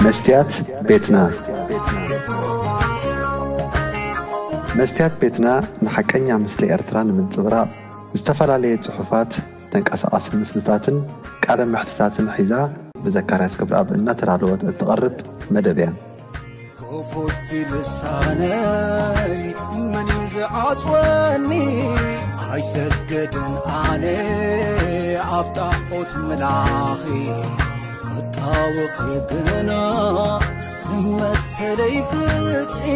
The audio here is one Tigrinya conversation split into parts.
መስትያት ቤትና። መስትያት ቤትና ንሓቀኛ ምስሊ ኤርትራ ንምንጽብራቕ ዝተፈላለየ ጽሑፋት፣ ተንቀሳቓሲ ምስልታትን ቃለ መሕትታትን ሒዛ ብዘካርያስ ገብረኣብ እናተዳለወት እትቐርብ መደብ እያ። ክፉት ልሳነይ መን እዩ ዝዓጽወኒ? ኣይሰግድን ኣነ ኣብ ጣዖት ምላኺ፣ ክጣወኺ ግና መሰለይ ፍትሒ።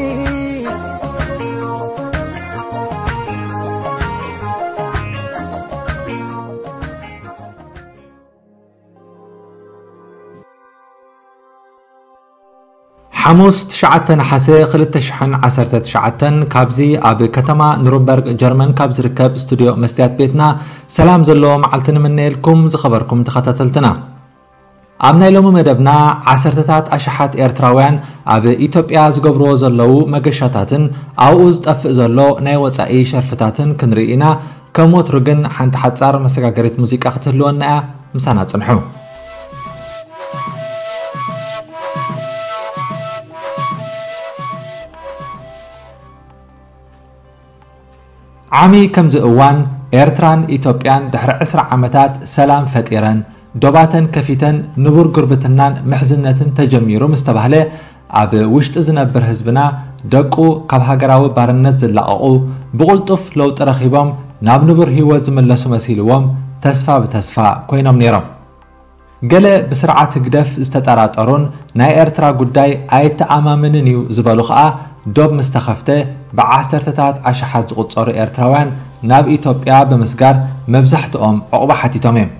ሓሙስ ትሽዓተ ነሓሰ ክልተ ሽሕን ዓሰርተ ትሽዓተን ካብዚ ኣብ ከተማ ኑርንበርግ ጀርመን ካብ ዝርከብ ስቱድዮ መስትያት ቤትና ሰላም ዘለዎ መዓልቲ ንምነየልኩም ዝኸበርኩም ተኸታተልትና። ኣብ ናይ ሎሚ መደብና ዓሰርተታት ኣሽሓት ኤርትራውያን ኣብ ኢትዮጵያ ዝገብርዎ ዘለዉ መገሻታትን ኣብኡ ዝጠፍእ ዘሎ ናይ ወጻኢ ሸርፍታትን ክንርኢ ኢና። ከም ወትሩ ግን ሓንቲ ሓጻር መሰጋገሪት ሙዚቃ ክትህልወና እያ። ምሳና ጽንሑ። ዓሚ ከምዚ እዋን ኤርትራን ኢትዮጵያን ድሕሪ ዕስራ ዓመታት ሰላም ፈጢረን፣ ዶባተን ከፊተን፣ ንቡር ጉርብትናን ምሕዝነትን ተጀሚሩ ምስ ተባህለ፣ ኣብ ውሽጢ ዝነብር ህዝብና ደቁ ካብ ሃገራዊ ባርነት ዝላቐቑ፣ ብቕልጡፍ ለውጢ ረኺቦም ናብ ንቡር ህይወት ዝምለሱ መሲልዎም ተስፋ ብተስፋ ኮይኖም ነይሮም። ገለ ብስርዓት ህግደፍ ዝተጠራጠሩን ናይ ኤርትራ ጉዳይ ኣይተኣማምንን እዩ ዝበሉ ከኣ ዶብ ምስ ተኸፍተ ብዓሰርተታት ኣሽሓት ዝቑጸሩ ኤርትራውያን ናብ ኢትዮጵያ ብምስጋር መብዛሕትኦም ዕቑባ ሓቲቶም እዮም።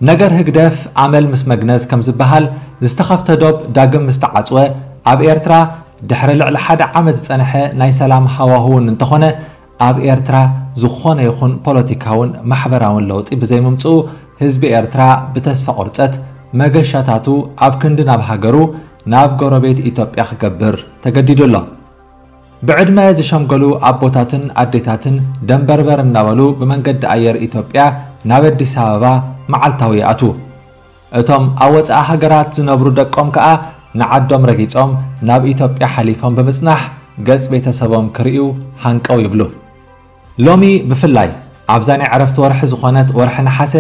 ነገር ህግደፍ ኣመል ምስ መግነዝ ከም ዝበሃል ዝተኸፍተ ዶብ ዳግም ምስ ተዓጽወ ኣብ ኤርትራ ድሕሪ ልዕሊ ሓደ ዓመት ዝጸንሐ ናይ ሰላም ሃዋህውን እንተኾነ ኣብ ኤርትራ ዝኾነ ይኹን ፖለቲካውን ማሕበራውን ለውጢ ብዘይምምጽኡ ህዝቢ ኤርትራ ብተስፋ ቁርጸት መገሻታቱ ኣብ ክንዲ ናብ ሃገሩ ናብ ጎረቤት ኢትዮጵያ ክገብር ተገዲዱ ኣሎ። ብዕድመ ዝሸምገሉ ኣቦታትን ኣዴታትን ደንበርበር እናበሉ ብመንገዲ ኣየር ኢትዮጵያ ናብ ኣዲስ ኣበባ መዓልታዊ ይኣትዉ። እቶም ኣብ ወጻኢ ሃገራት ዝነብሩ ደቆም ከኣ ንዓዶም ረጊጾም ናብ ኢትዮጵያ ሓሊፎም ብምጽናሕ ገጽ ቤተሰቦም ክርእዩ ሃንቀው ይብሉ። ሎሚ ብፍላይ ኣብዛ ናይ ዕረፍቲ ወርሒ ዝኾነት ወርሒ ነሓሰ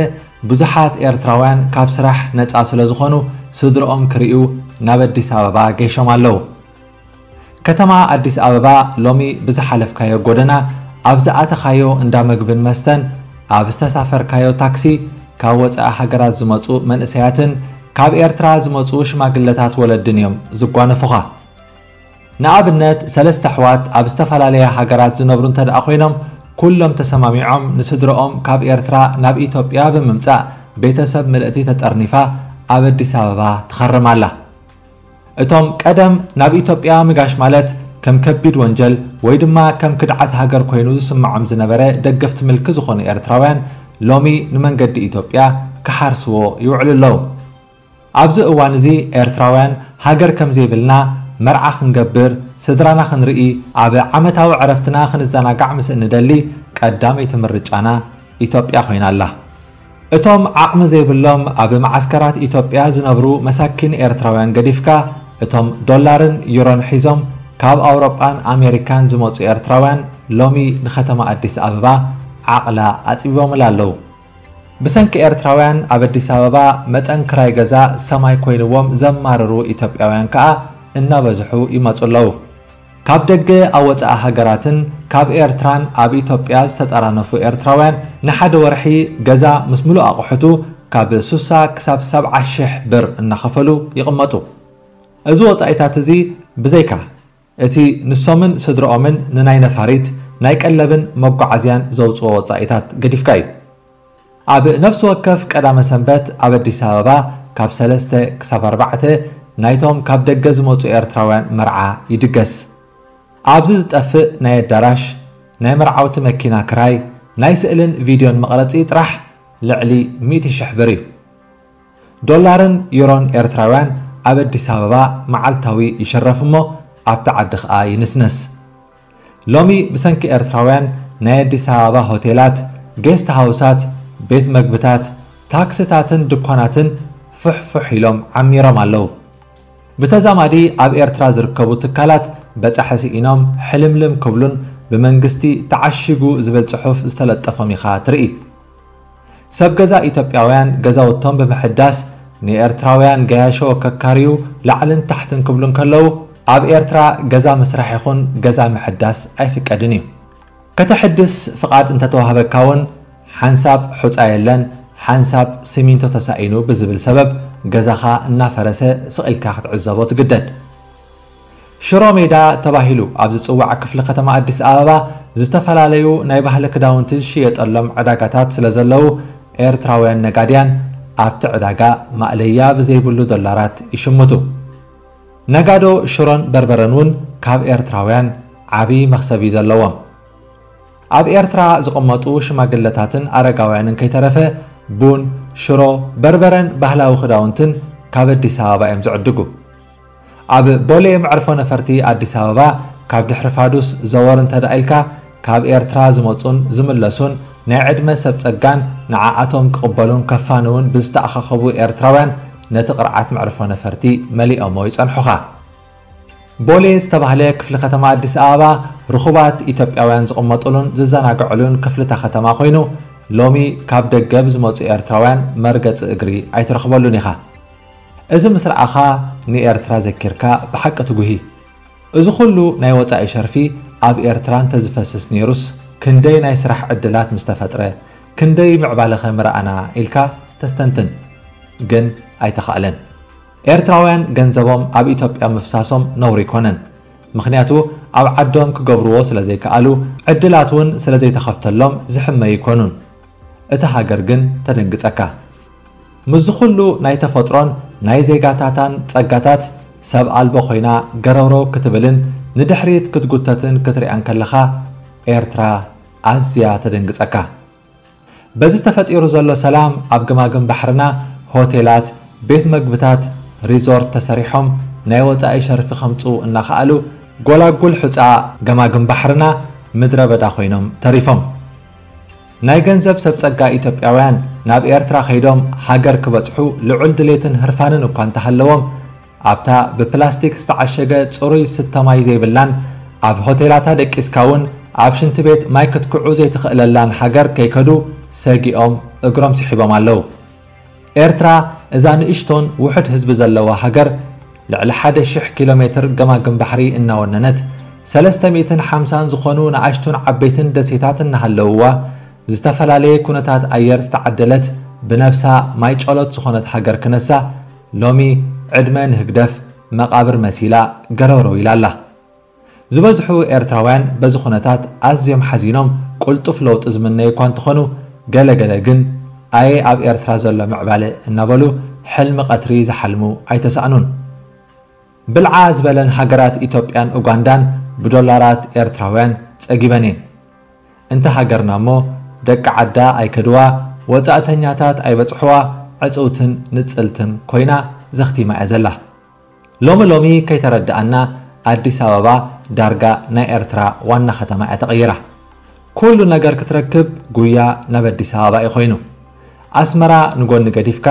ብዙሓት ኤርትራውያን ካብ ስራሕ ነጻ ስለ ዝኾኑ ስድርኦም ክርእዩ ናብ ኣዲስ ኣበባ ገይሾም ኣለዉ። ከተማ ኣዲስ ኣበባ ሎሚ ብዝሓለፍካዮ ጎደና፣ ኣብ ዝኣተኻዮ እንዳ ምግብን መስተን፣ ኣብ ዝተሳፈርካዮ ታክሲ ካብ ወጻኢ ሃገራት ዝመጹ መንእሰያትን ካብ ኤርትራ ዝመጹ ሽማግለታት ወለድን እዮም ዝጓነፉኻ። ንኣብነት ሰለስተ ኣሕዋት ኣብ ዝተፈላለያ ሃገራት ዝነብሩ እንተ ደኣ ኮይኖም ኩሎም ተሰማሚዖም ንስድርኦም ካብ ኤርትራ ናብ ኢትዮጵያ ብምምጻእ ቤተሰብ ምልእቲ ተጠርኒፋ ኣብ ኣዲስ ኣበባ ትኸርም ኣላ። እቶም ቀደም ናብ ኢትዮጵያ ምጋሽ ማለት ከም ከቢድ ወንጀል ወይ ድማ ከም ክድዓት ሃገር ኮይኑ ዝስምዖም ዝነበረ ደገፍቲ ምልኪ ዝኾኑ ኤርትራውያን ሎሚ ንመንገዲ ኢትዮጵያ ክሓርስዎ ይውዕሉ ኣለዉ። ኣብዚ እዋን እዚ ኤርትራውያን ሃገር ከም ዘይብልና፣ መርዓ ክንገብር፣ ስድራና ክንርኢ፣ ኣብ ዓመታዊ ዕረፍትና ክንዘናጋዕ ምስ እንደሊ ቀዳመይቲ ምርጫና ኢትዮጵያ ኮይና ኣላ። እቶም ዓቕሚ ዘይብሎም ኣብ መዓስከራት ኢትዮጵያ ዝነብሩ መሳኪን ኤርትራውያን ገዲፍካ፣ እቶም ዶላርን ዩሮን ሒዞም ካብ ኣውሮጳን ኣሜሪካን ዝመጹ ኤርትራውያን ሎሚ ንከተማ ኣዲስ ኣበባ ዓቕላ ኣጽቢቦምላ ኣለዉ። ብሰንኪ ኤርትራውያን ኣብ ኣዲስ ኣበባ መጠን ክራይ ገዛ ሰማይ ኮይንዎም ዘማርሩ ኢትዮጵያውያን ከኣ እናበዝሑ ይመጹ ኣለዉ። ካብ ደገ ኣብ ወጻኢ ሃገራትን ካብ ኤርትራን ኣብ ኢትዮጵያ ዝተጠራነፉ ኤርትራውያን ንሓደ ወርሒ ገዛ ምስ ምሉእ ኣቑሑቱ ካብ ሱሳ ክሳብ ሰብዓ ሽሕ ብር እናኸፈሉ ይቕመጡ። እዚ ወጻኢታት እዚ ብዘይካ እቲ ንሶምን ስድርኦምን ንናይ ነፋሪት፣ ናይ ቀለብን መጓዓዝያን ዘውጽኦ ወጻኢታት ገዲፍካ እዩ። ኣብ ነፍሲ ወከፍ ቀዳመ ሰንበት ኣብ ኣዲስ ኣበባ ካብ ሰለስተ ክሳብ ኣርባዕተ ናይቶም ካብ ደገ ዝመጹ ኤርትራውያን መርዓ ይድገስ። ኣብዚ ዝጠፍእ ናይ ኣዳራሽ፣ ናይ መርዓውቲ መኪና ክራይ፣ ናይ ስእልን ቪድዮን መቕረጺ ጥራሕ ልዕሊ ሚእቲ ሽሕ ብር እዩ። ዶላርን ዩሮን ኤርትራውያን ኣብ ኣዲስ ኣበባ መዓልታዊ ይሽረፍ እሞ ኣብቲ ዓዲ ከኣ ይንስነስ። ሎሚ ብሰንኪ ኤርትራውያን ናይ ኣዲስ ኣበባ ሆቴላት፣ ጌስት ሃውሳት፣ ቤት መግብታት፣ ታክስታትን ድኳናትን ፍሕፍሕ ኢሎም ዓሚሮም ኣለዉ። ብተዛማዲ ኣብ ኤርትራ ዝርከቡ ትካላት በጻሒ ስኢኖም ሕልምልም ክብሉን ብመንግስቲ ተዓሺጉ ዝብል ጽሑፍ ዝተለጠፎም ኢኻ ትርኢ። ሰብ ገዛ ኢትዮጵያውያን ገዛውቶም ብምሕዳስ ንኤርትራውያን ገያሾ ከካርዩ ላዕልን ታሕትን ክብሉ እንከለዉ፣ ኣብ ኤርትራ ገዛ ምስራሕ ይኹን ገዛ ምሕዳስ ኣይፍቀድን እዩ። ከተሕድስ ፍቓድ እንተተዋህበካ እውን ሓንሳብ ሑጻ የለን፣ ሓንሳብ ሲሚንቶ ተሳኢኑ ብዝብል ሰበብ ገዛኻ እናፈረሰ ስቕ ኢልካ ክትዕዘቦ ትግደድ። ሽሮ ሜዳ ተባሂሉ ኣብ ዝጽዋዕ ክፍሊ ከተማ ኣዲስ ኣበባ ዝተፈላለዩ ናይ ባህሊ ክዳውንቲ ዝሽየጠሎም ዕዳጋታት ስለ ዘለዉ፣ ኤርትራውያን ነጋድያን ኣብቲ ዕዳጋ ማእለያ ብዘይብሉ ዶላራት ይሽምቱ። ነጋዶ ሽሮን በርበረን እውን ካብ ኤርትራውያን ዓቢ መኽሰብ እዩ ዘለዎም። ኣብ ኤርትራ ዝቕመጡ ሽማግለታትን ኣረጋውያንን ከይተረፈ ቡን፣ ሽሮ፣ በርበረን ባህላዊ ክዳውንትን ካብ ኣዲስ ኣበባ እዮም ዝዕድጉ። ኣብ ቦሌ መዕርፎ ነፈርቲ ኣዲስ ኣበባ ካብ ድሕሪ ፋዱስ ዘወር እንተ ደኣ ኢልካ፣ ካብ ኤርትራ ዝመጹን ዝምለሱን ናይ ዕድመ ሰብ ጸጋን ንዓኣቶም ክቕበሉን ከፋንውን ብዝተኣኻኸቡ ኤርትራውያን ነቲ ቅርዓት መዕርፎ ነፈርቲ መሊኦሞ ይጸንሑኻ። ቦሌ ዝተባህለ ክፍሊ ከተማ ኣዲስ ኣበባ ርኹባት ኢትዮጵያውያን ዝቕመጡሉን ዝዘናግዕሉን ክፍልታ ከተማ ኮይኑ፣ ሎሚ ካብ ደገ ብዝመጹ ኤርትራውያን መርገጺ እግሪ ኣይትረኽበሉን ኢኻ። እዚ ምስ ረኣኻ ንኤርትራ ዘኪርካ ብሓቂ ትጉሂ። እዚ ኩሉ ናይ ወጻኢ ሸርፊ ኣብ ኤርትራ እንተዝፈስስ ነይሩስ ክንደይ ናይ ስራሕ ዕድላት ምስተፈጥረ፣ ክንደይ ምዕባለኸ ምረኣና ኢልካ ተስተንትን። ግን ኣይተኻእለን። ኤርትራውያን ገንዘቦም ኣብ ኢትዮጵያ ምፍሳሶም ነውሪ ኣይኮነን። ምኽንያቱ ኣብ ዓዶም ክገብርዎ ስለ ዘይከኣሉ፣ ዕድላት እውን ስለ ዘይተኸፍተሎም ዝሕመዩ ኣይኮኑን። እታ ሃገር ግን ተደንግጸካ። ምስዚ ኩሉ ናይ ተፈጥሮን ናይ ዜጋታታን ጸጋታት ሰብ ኣልቦ ኮይና ገረውረው ክትብልን ንድሕሪት ክትጉተትን ክትሪኣን ከለኻ ኤርትራ ኣዝያ ተደንግጸካ። በዚ ተፈጢሩ ዘሎ ሰላም ኣብ ገማግም ባሕርና ሆቴላት፣ ቤት መግብታት፣ ሪዞርት ተሰሪሖም ናይ ወጻኢ ሸርፊ ከምጽኡ እናኸኣሉ ጎላጉል ሑጻ ገማግም ባሕርና ምድረ በዳ ኮይኖም ተሪፎም። ናይ ገንዘብ ሰብ ጸጋ ኢትዮጵያውያን ናብ ኤርትራ ከይዶም ሃገር ክበጽሑ ልዑል ድሌትን ህርፋንን እኳ እንተሃለዎም፣ ኣብታ ብፕላስቲክ ዝተዓሸገ ጽሩይ ስተ ማይ ዘይብላን ኣብ ሆቴላታ ደቂስካ እውን ኣብ ሽንቲ ቤት ማይ ክትክዑ ዘይትኽእለላን ሃገር ከይከዱ ሰጊኦም እግሮም ስሒቦም ኣለዉ። ኤርትራ እዛ ንእሽቶን ውሑድ ህዝቢ ዘለዋ ሃገር ልዕሊ ሓደ ሽሕ ኪሎ ሜትር ገማግም ባሕሪ እናወነነት ሰለስተ ሚእትን ሓምሳን ዝኾኑ ንኣሽቱን ዓበይትን ደሴታት እናሃለውዋ ዝተፈላለየ ኩነታት ኣየር ዝተዓደለት ብነብሳ ማይ ጨሎት ዝኾነት ሃገር ክነሳ ሎሚ ዕድመ ንህግደፍ መቓብር መሲላ ገረውረው ኢላ ኣላ። ዝበዝሑ ኤርትራውያን በዚ ኩነታት ኣዝዮም ሓዚኖም ቁልጡፍ ለውጢ ዝምነዩ እኳ እንተኾኑ፣ ገለ ገለ ግን ኣየ ኣብ ኤርትራ ዘሎ ምዕባለ እናበሉ ሕልሚ ቀትሪ ዝሓልሙ ኣይተሳእኑን። ብልዓ ዝበለን ሃገራት ኢትዮጵያን ኡጋንዳን ብዶላራት ኤርትራውያን ጸጊበን እየን። እንተ ሃገርና እሞ ደቂ ዓዳ ኣይከድዋ፣ ወጻእተኛታት ኣይበጽሕዋ፣ ዕጽውትን ንጽልትን ኮይና ዘኽቲማ እያ ዘላ። ሎሚ ሎሚ ከይተረድኣና ኣዲስ ኣበባ ዳርጋ ናይ ኤርትራ ዋና ከተማ እያ ተቐይራ። ኩሉ ነገር ክትረክብ ጉያ ናብ ኣዲስ ኣበባ እዩ ኮይኑ። ኣስመራ ንጎኒ ገዲፍካ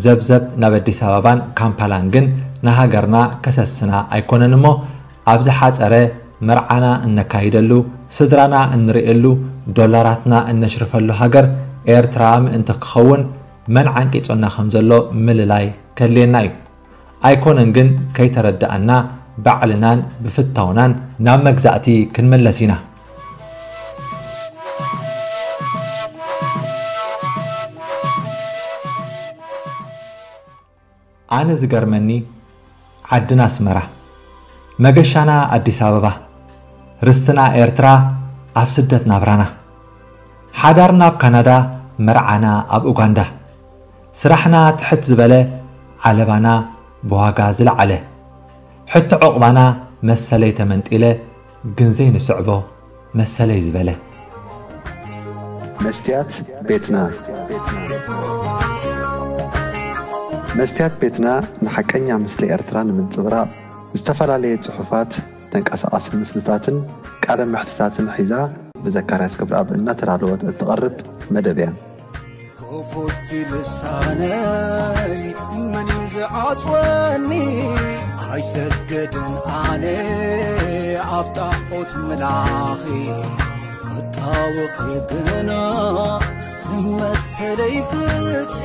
ዘብዘብ ናብ ኣዲስ ኣበባን ካምፓላን ግን ንሃገርና ከሰስና ኣይኮነን እሞ ኣብ ዝሓጸረ መርዓና እነካይደሉ፣ ስድራና እንርእየሉ፣ ዶላራትና እነሽርፈሉ ሃገር ኤርትራ ምእንቲ ክኸውን መን ዓንቂጹና ከም ዘሎ ምልላይ ከድልየና እዩ። ኣይኮነን ግን ከይተረድኣና ባዕልናን ብፍታውናን ናብ መግዛእቲ ክንምለስ ኢና። ኣነ ዝገርመኒ ዓድና ኣስመራ፣ መገሻና ኣዲስ ኣበባ፣ ርስትና ኤርትራ ኣብ ስደት ናብራና፣ ሓዳርና ኣብ ካናዳ፣ መርዓና ኣብ ኡጋንዳ፣ ስራሕና ትሕት ዝበለ፣ ዓለባና ብዋጋ ዝለዓለ፣ ሕቶ ዑቕባና መሰለይ ተመንጢለ ግን ዘይንስዕቦ መሰለይ ዝበለ። መስትያት ቤትና። መስትያት ቤትና ንሓቀኛ ምስሊ ኤርትራ ንምንጽብራቕ ዝተፈላለየ ጽሑፋት፣ ተንቀሳቓሲ ምስልታትን ቃለ መሕትታትን ሒዛ ብዘካርያስ ገብረኣብ እናተዳለወት እትቐርብ መደብ እያ። ክፉት ልሳነይ መን እዩ ዝዓጽወኒ? ኣይ ሰገድን ኣነ ኣብ ጣዖት ምላኺ ክጣወኺ ግና ንመሰለይ ፍትሒ